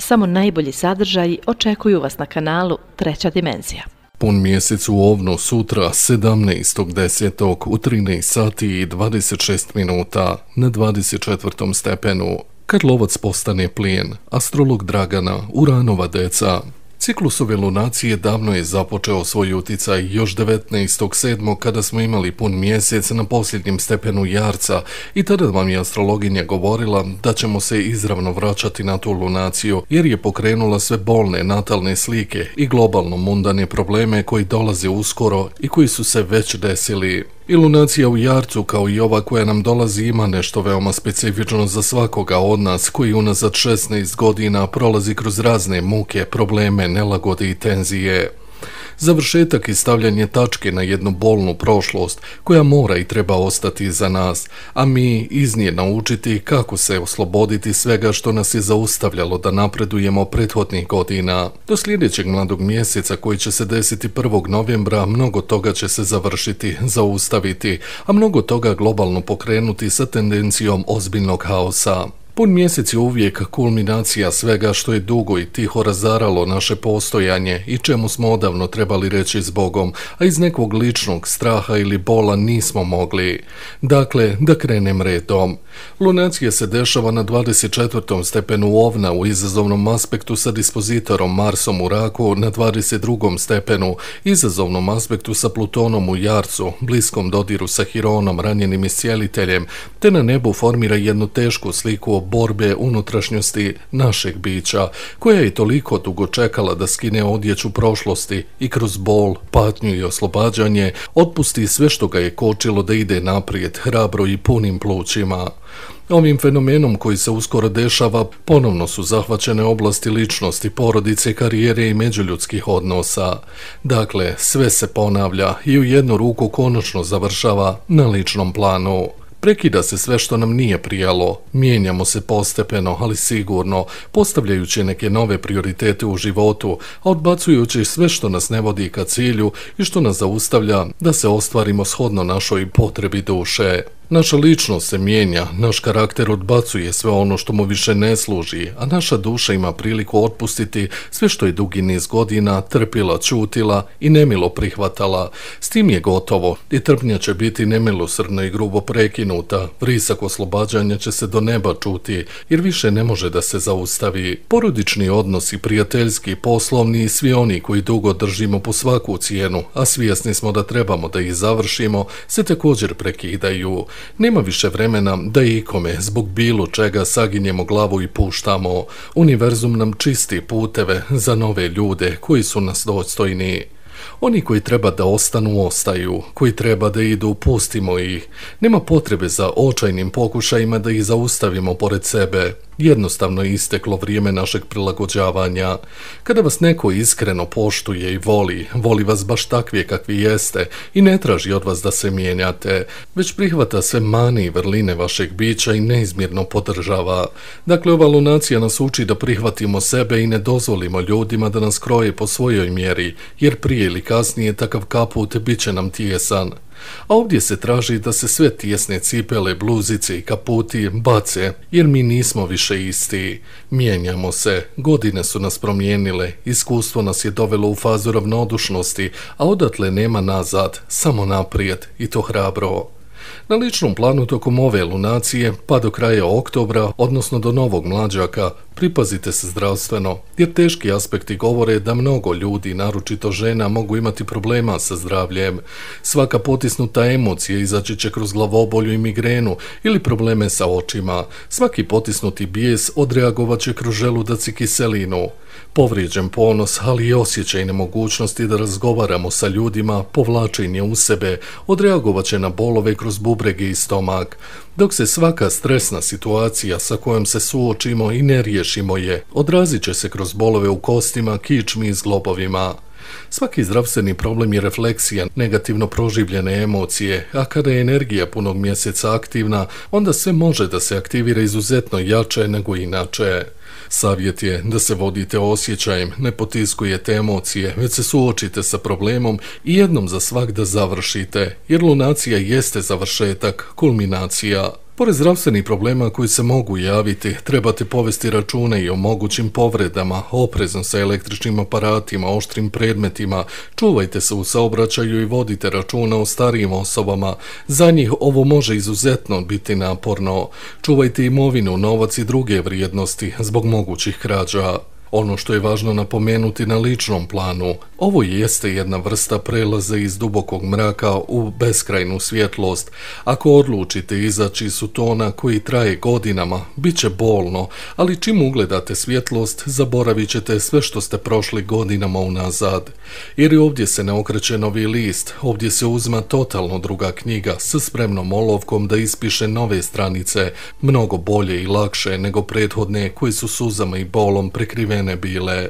samo najbolji sadržaji očekuju vas na kanalu Treća dimenzija. Pun mjesec u Ovnu sutra 17.10. u 13 sati i 26 minuta na 24. stepenu. Kad lovac postane plijen, astrolog Dragana, Uranova deca. Ciklus ove lunacije davno je započeo svoj uticaj još 19.7. kada smo imali pun mjesec na posljednjem stepenu Jarca i tada vam je astrologinja govorila da ćemo se izravno vraćati na tu lunaciju jer je pokrenula sve bolne natalne slike i globalno mundane probleme koji dolaze uskoro i koji su se već desili. I lunacija u Jarcu kao i ova koja nam dolazi ima nešto veoma specifično za svakoga od nas koji unazad 16 godina prolazi kroz razne muke, probleme, nelagode i tenzije. Završetak i stavljanje tačke na jednu bolnu prošlost koja mora i treba ostati iza nas, a mi iz nje naučiti kako se osloboditi svega što nas je zaustavljalo da napredujemo prethodnih godina. Do sljedećeg mladog mjeseca koji će se desiti 1. novembra mnogo toga će se završiti, zaustaviti, a mnogo toga globalno pokrenuti sa tendencijom ozbiljnog haosa. Pun mjesec je uvijek kulminacija svega što je dugo i tiho razaralo naše postojanje i čemu smo odavno trebali reći s Bogom, a iz nekog ličnog straha ili bola nismo mogli. Dakle, da krenem redom. Lunacija se dešava na 24. stepenu Ovna u izazovnom aspektu sa dispozitorom Marsom u Raku na 22. stepenu, izazovnom aspektu sa Plutonom u Jarcu, bliskom dodiru sa Hironom, ranjenim iscijeliteljem, te na nebu formira jednu tešku sliku borbe unutrašnjosti našeg bića, koja je toliko dugo čekala da skine odjeću prošlosti i kroz bol, patnju i oslobađanje otpusti sve što ga je kočilo da ide naprijed hrabro i punim plućima. Ovim fenomenom koji se uskoro dešava ponovno su zahvaćene oblasti ličnosti, porodice, karijere i međuljudskih odnosa. Dakle, sve se ponavlja i u jednu ruku konačno završava na ličnom planu. Prekida se sve što nam nije prijalo, mijenjamo se postepeno, ali sigurno, postavljajući neke nove prioritete u životu, a odbacujući sve što nas ne vodi ka cilju i što nas zaustavlja da se ostvarimo shodno našoj potrebi duše. Naša ličnost se mijenja, naš karakter odbacuje sve ono što mu više ne služi, a naša duša ima priliku otpustiti sve što je dugi niz godina trpila, ćutila i nemilo prihvatala. S tim je gotovo i trpnja će biti nemilosrdno i grubo prekinuta, vrisak oslobađanja će se do neba čuti jer više ne može da se zaustavi. Porodični odnosi, prijateljski, poslovni i svi oni koji dugo držimo po svaku cijenu, a svjesni smo da trebamo da ih završimo, se također prekidaju. Nema više vremena da ikome zbog bilo čega saginjemo glavu i puštamo. Univerzum nam čisti puteve za nove ljude koji su nas dostojni. Oni koji treba da ostanu, ostaju. Koji treba da idu, pustimo ih. Nema potrebe za očajnim pokušajima da ih zaustavimo pored sebe. Jednostavno je isteklo vrijeme našeg prilagođavanja. Kada vas neko iskreno poštuje i voli vas baš takvije kakvi jeste i ne traži od vas da se mijenjate, već prihvata sve mane i vrline vašeg bića i neizmjerno podržava. Dakle, ova lunacija nas uči da prihvatimo sebe i ne dozvolimo ljudima da nas kroje po svojoj mjeri, jer prije ili kasnije takav kaput bit će nam tijesan. A ovdje se traži da se sve tijesne cipele, bluzice i kaputi bace, jer mi nismo više isti. Mijenjamo se, godine su nas promijenile, iskustvo nas je dovelo u fazu ravnodušnosti, a odatle nema nazad, samo naprijed i to hrabro. Na ličnom planu tokom ove lunacije, pa do kraja oktobra, odnosno do novog mlađaka, pripazite se zdravstveno, jer teški aspekti govore da mnogo ljudi, naročito žena, mogu imati problema sa zdravljem. Svaka potisnuta emocija izaći će kroz glavobolju i migrenu ili probleme sa očima. Svaki potisnuti bijes odreagovat će kroz želudac i kiselinu. Povrijeđen ponos, ali i osjećaj nemogućnosti da razgovaramo sa ljudima, povlačenje u sebe, odreagovat će na bolove kroz bubrege i stomak. Dok se svaka stresna situacija sa kojom se suočimo i ne riješimo je, odrazit će se kroz bolove u kostima, kičmi i zglobovima. Svaki zdravstveni problem je refleksija negativno proživljene emocije, a kada je energija punog mjeseca aktivna, onda sve može da se aktivira izuzetno jače nego inače. Savjet je da se vodite osjećajem, ne potiskujete emocije, već se suočite sa problemom i jednom za svak da završite, jer lunacija jeste završetak, kulminacija. Pored zdravstvenih problema koji se mogu javiti, trebate povesti račune i o mogućim povredama, oprezno sa električnim aparatima, oštrim predmetima, čuvajte se u saobraćaju i vodite računa o starijim osobama. Za njih ovo može izuzetno biti naporno. Čuvajte imovinu, novac i druge vrijednosti zbog mogućih krađa. Ono što je važno napomenuti na ličnom planu, ovo jeste jedna vrsta prelaza iz dubokog mraka u beskrajnu svjetlost. Ako odlučite izaći iz sutona koji traje godinama, bit će bolno, ali čim ugledate svjetlost, zaboravit ćete sve što ste prošli godinama unazad. Jer i ovdje se ne okreće novi list, ovdje se uzma totalno druga knjiga s spremnom olovkom da ispiše nove stranice, mnogo bolje i lakše nego prethodne koje su suzama i bolom prekrivene bile.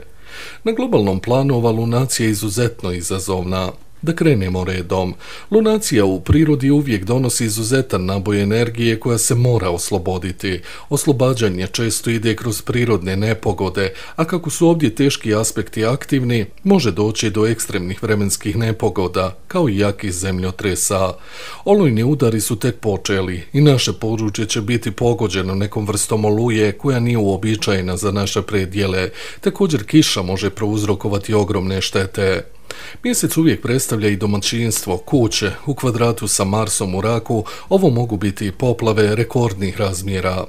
Na globalnom planu ova lunacija je izuzetno izazovna. Da krenemo redom. Lunacija u prirodi uvijek donosi izuzetan naboj energije koja se mora osloboditi. Oslobađanje često ide kroz prirodne nepogode, a kako su ovdje teški aspekti aktivni, može doći do ekstremnih vremenskih nepogoda, kao i jakih zemljotresa. Olujni udari su tek počeli i naše područje će biti pogođeno nekom vrstom oluje koja nije uobičajena za naše predjele. Također kiša može prouzrokovati ogromne štete. Mjesec uvijek predstavlja i domaćinstvo, kuće, u kvadratu sa Marsom u raku, ovo mogu biti i poplave rekordnih razmjera.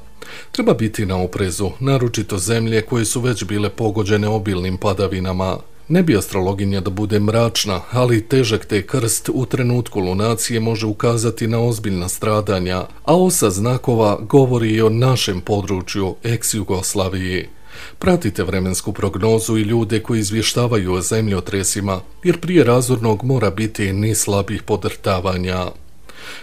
Treba biti na oprezu, naročito zemlje koje su već bile pogođene obilnim padavinama. Ne bi astrologinja da bude mračna, ali težak te krst u trenutku lunacije može ukazati na ozbiljna stradanja, a osa znakova govori i o našem području, ex-Jugoslaviji. Pratite vremensku prognozu i ljude koji izvještavaju o zemljotresima, jer prije razornog mora biti niz slabih podrtavanja.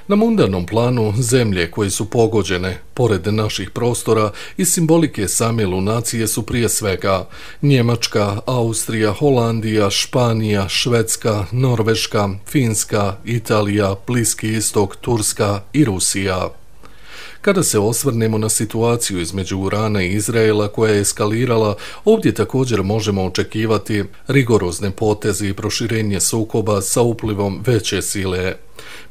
Na mundanom planu zemlje koje su pogođene, pored naših prostora, i simbolike same lunacije su prije svega Njemačka, Austrija, Holandija, Španija, Švedska, Norveška, Finska, Italija, Bliski istok, Turska i Rusija. Kada se osvrnemo na situaciju između Irana i Izraela koja je eskalirala, ovdje također možemo očekivati rigorozne poteze i proširenje sukoba sa uplivom veće sile.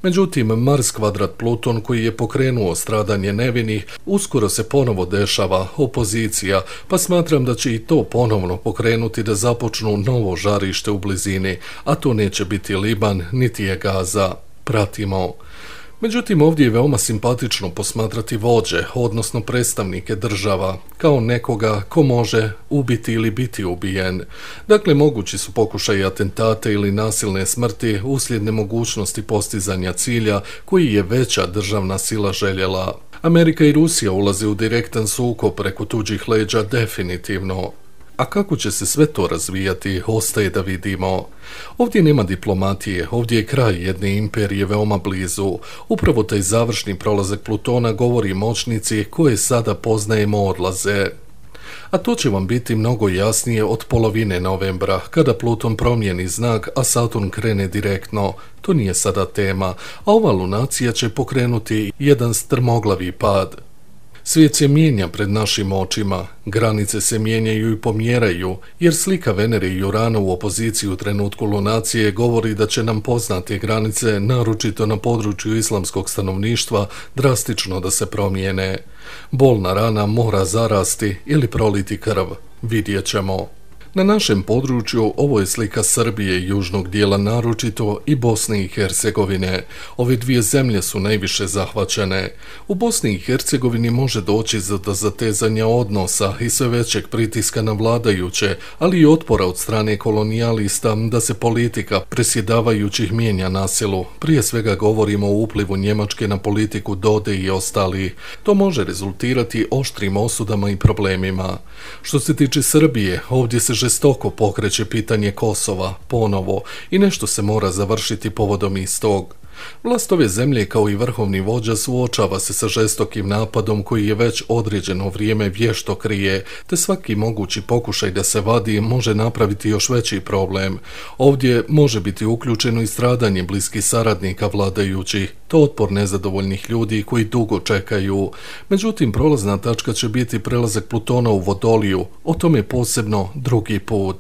Međutim, Mars kvadrat Pluton koji je pokrenuo stradanje nevinih, uskoro se ponovo dešava opozicija, pa smatram da će i to ponovno pokrenuti da započnu novo žarište u blizini, a to neće biti Liban niti je Gaza. Pratimo. Međutim, ovdje je veoma simpatično posmatrati vođe, odnosno predstavnike država, kao nekoga ko može ubiti ili biti ubijen. Dakle, mogući su pokušaji atentate ili nasilne smrti uslijed nemogućnosti postizanja cilja koji je veća državna sila željela. Amerika i Rusija ulaze u direktan sukob preko tuđih leđa definitivno. A kako će se sve to razvijati, ostaje da vidimo. Ovdje nema diplomatije, ovdje je kraj jedne imperije veoma blizu. Upravo taj završni prolazak Plutona govori moćnici koje sada poznajemo odlaze. A to će vam biti mnogo jasnije od polovine novembra, kada Pluton promijeni znak, a Saturn krene direktno. To nije sada tema, a ova lunacija će pokrenuti jedan strmoglavi pad. Svijet se mijenja pred našim očima, granice se mijenjaju i pomjeraju, jer slika Venere i Urana u opoziciji u trenutku lunacije govori da će nam poznate granice, naročito na području islamskog stanovništva, drastično da se promijene. Bolna rana mora zarasti ili proliti krv, vidjet ćemo. Na našem području ovo je slika Srbije i južnog dijela naročito i Bosne i Hercegovine. Ove dvije zemlje su najviše zahvaćene. U Bosni i Hercegovini može doći do zatezanja odnosa i sve većeg pritiska na vladajuće, ali i otpora od strane kolonijalista da se politika presjedavajućih mijenja na silu. Prije svega govorimo o uplivu Njemačke na politiku Dode i ostali. To može rezultirati oštrim osudama i problemima. Što se tiče Srbije, ovdje se žestoko pokreće pitanje Kosova, ponovo, i nešto se mora završiti povodom istog. Vlast ove zemlje kao i vrhovni vođa suočava se sa žestokim napadom koji je već određeno vrijeme vješto krije, te svaki mogući pokušaj da se vadi može napraviti još veći problem. Ovdje može biti uključeno i stradanje bliskih saradnika vladajućih, to otpor nezadovoljnih ljudi koji dugo čekaju. Međutim, prolazna tačka će biti prelazak Plutona u Vodoliju, o tome posebno drugi put.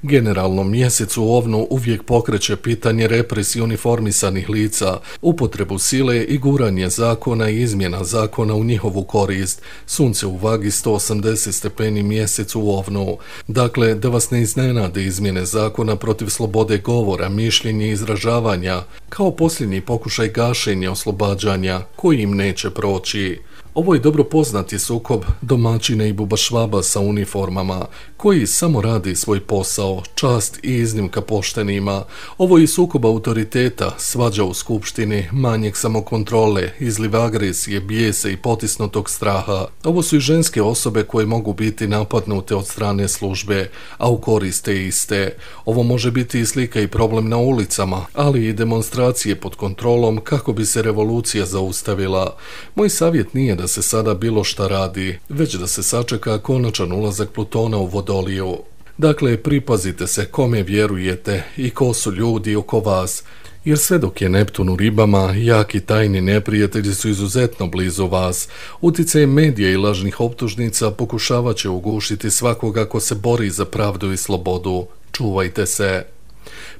Generalno, mjesec u Ovnu uvijek pokreće pitanje represije uniformisanih lica, upotrebu sile i guranje zakona i izmjena zakona u njihovu korist. Sunce u vagi 180 stepeni, mjesec u Ovnu. Dakle, da vas ne iznenade izmjene zakona protiv slobode govora, mišljenja i izražavanja, kao posljednji pokušaj gašenja oslobađanja koji im neće proći. Ovo je dobro poznati sukob domaćina i bubašvaba sa uniformama, koji samo radi svoj posao, čast i iznimka poštenima. Ovo je sukob autoriteta, svađa u skupštini, manjeg samokontrole, izliv agresije, bijesa i potisnutog straha. Ovo su i ženske osobe koje mogu biti napadnute od strane službe, a u korist te iste. Ovo može biti i slika i problem na ulicama, ali i demonstracije pod kontrolom kako bi se revolucija zaustavila. Moj savjet nije da se sada bilo šta radi, već da se sačeka konačan ulazak Plutona u Vodoliju. Dakle, pripazite se kome vjerujete i ko su ljudi oko vas, jer sve dok je Neptun u Ribama, jaki tajni neprijatelji su izuzetno blizu vas. Utjecaj medija i lažnih optužnica pokušavat će ugušiti svakoga ko se bori za pravdu i slobodu. Čuvajte se.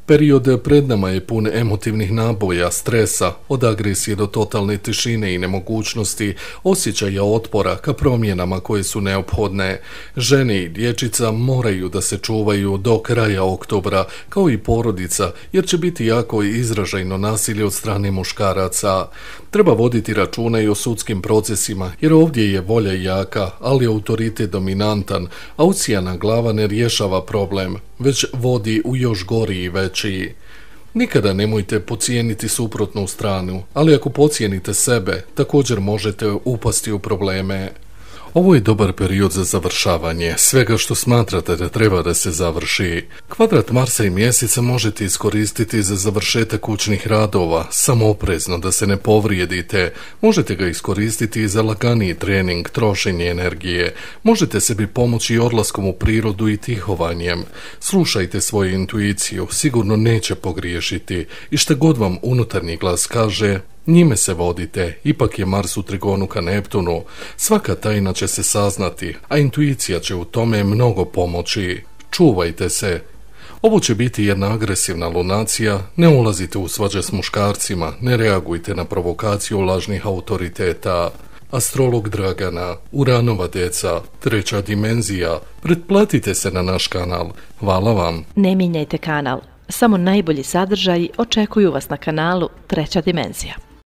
Period pred nama je pun emotivnih naboja, stresa, od agresije do totalne tišine i nemogućnosti, osjećaja otpora ka promjenama koje su neophodne. Žene i dječica moraju da se čuvaju do kraja oktobra, kao i porodica, jer će biti jako izražajno nasilje od strane muškaraca. Treba voditi računa i o sudskim procesima, jer ovdje je volja jaka, ali autoritet dominantan, a ucijana glava ne rješava problem, već vodi u još gori i veći. Nikada nemojte podcijeniti suprotnu stranu, ali ako podcijenite sebe, također možete upasti u probleme. Ovo je dobar period za završavanje svega što smatrate da treba da se završi. Kvadrat Marsa i Mjeseca možete iskoristiti za završetak kućnih radova, samo oprezno da se ne povrijedite. Možete ga iskoristiti i za laganiji trening, trošenje energije. Možete sebi pomoći odlaskom u prirodu i tihovanjem. Slušajte svoju intuiciju, sigurno neće pogriješiti i šta god vam unutarnji glas kaže, njime se vodite, ipak je Mars u trigonu ka Neptunu. Svaka tajna će se saznati, a intuicija će u tome mnogo pomoći. Čuvajte se. Ovo će biti jedna agresivna lunacija, ne ulazite u svađe s muškarcima, ne reagujte na provokaciju lažnih autoriteta. Astrolog Dragana, Uranova deca, treća dimenzija. Pretplatite se na naš kanal. Hvala vam. Ne mijenjajte kanal. Samo najbolji sadržaji očekuju vas na kanalu Treća dimenzija.